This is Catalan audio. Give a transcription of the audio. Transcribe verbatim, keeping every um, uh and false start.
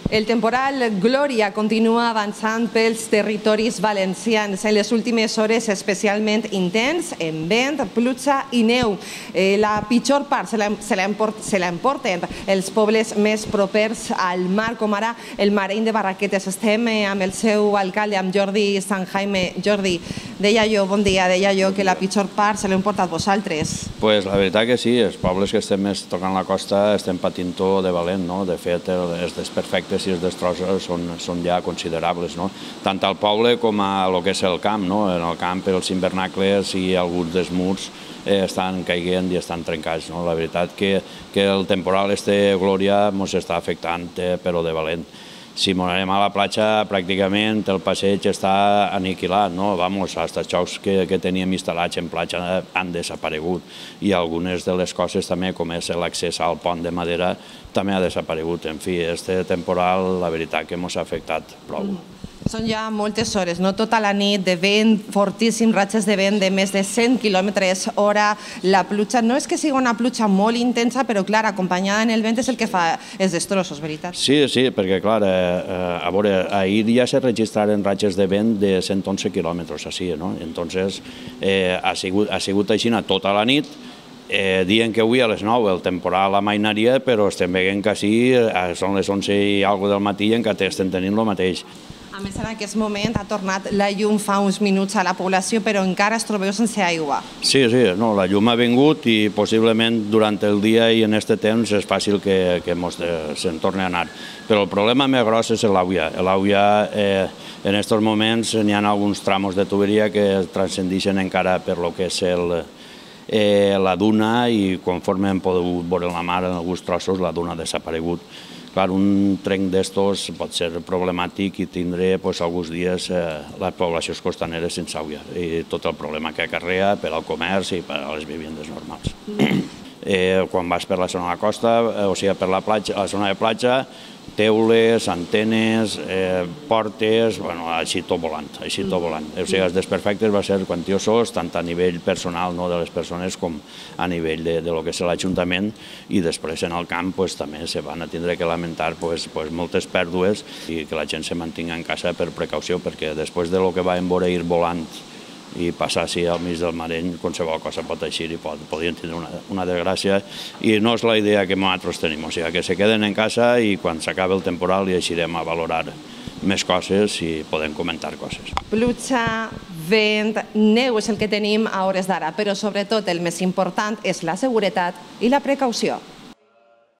El temporal Glòria continua avançant pels territoris valencians. En les últimes hores especialment intens, en vent, pluja i neu. La pitjor part se l'emporten els pobles més propers al mar, com ara el Mareny de Barraquetes. Estem amb el seu alcalde, amb Jordi San Jaime. Jordi, deia jo, bon dia, deia jo que la pitjor part se l'heu portat vosaltres. Pues la veritat que sí, els pobles que estem més tocant la costa estem patint-ho de valent, no? De fet, els desperfectes i els destrossos són ja considerables, no? Tant al poble com a lo que és el camp, no? En el camp els invernacles i alguns dels murs estan caiguent i estan trencats, no? La veritat que el temporal este Glòria ens està afectant, però de valent. Si anem a la platja, pràcticament el passeig està aniquilat, no? Vamos, els xocs que teníem instal·lats en platja han desaparegut i algunes de les coses també, com és l'accés al pont de madera, també ha desaparegut. En fi, este temporal, la veritat que ens ha afectat prou. Són ja moltes hores, no? Tota la nit de vent fortíssim, ratxes de vent de més de cent quilòmetres hora. La pluja no és que sigui una pluja molt intensa, però clar, acompanyada en el vent és el que fa els destrossos, veritat? Sí, sí, perquè clar, a veure, ahir ja se registraren ratxes de vent de cent onze quilòmetres així, no? Entonces, ha sigut així tota la nit. Dient que avui a les nou el temporal amainaria, però estem veient que sí, són les onze i alguna del matí i encara estem tenint el mateix. A més, en aquest moment ha tornat la llum fa uns minuts a la població, però encara es trobeu sense aigua. Sí, sí, la llum ha vingut i possiblement durant el dia i en aquest temps és fàcil que se'n torni a anar. Però el problema més gros és l'àgua. L'àgua, en aquests moments, hi ha alguns tramos de tuberia que transcendeixen encara per lo que és la duna i conforme hem pogut veure la mar en alguns trossos, la duna ha desaparegut. Clar, un trenc d'estos pot ser problemàtic i tindré alguns dies les poblacions costaneres sense aigua i tot el problema que acarrea per al comerç i per a les vivendes normals. Quan vas per la zona de la costa, o sigui, per la zona de platja, teules, antenes, portes, així tot volant, així tot volant. O sigui, els desperfectes van ser quantiosos, tant a nivell personal de les persones com a nivell de lo que és l'Ajuntament, i després en el camp també se van tindre que lamentar moltes pèrdues i que la gent se mantingui en casa per precaució, perquè després de lo que vam veure ir volant i passar així al mig del Mareny, qualsevol cosa pot eixir i podrien tenir una desgràcia, i no és la idea que nosaltres tenim, o sigui, que se queden en casa i quan s'acabi el temporal hi eixirem a valorar més coses i podem comentar coses. Pluja, vent, neu és el que tenim a hores d'ara, però sobretot el més important és la seguretat i la precaució.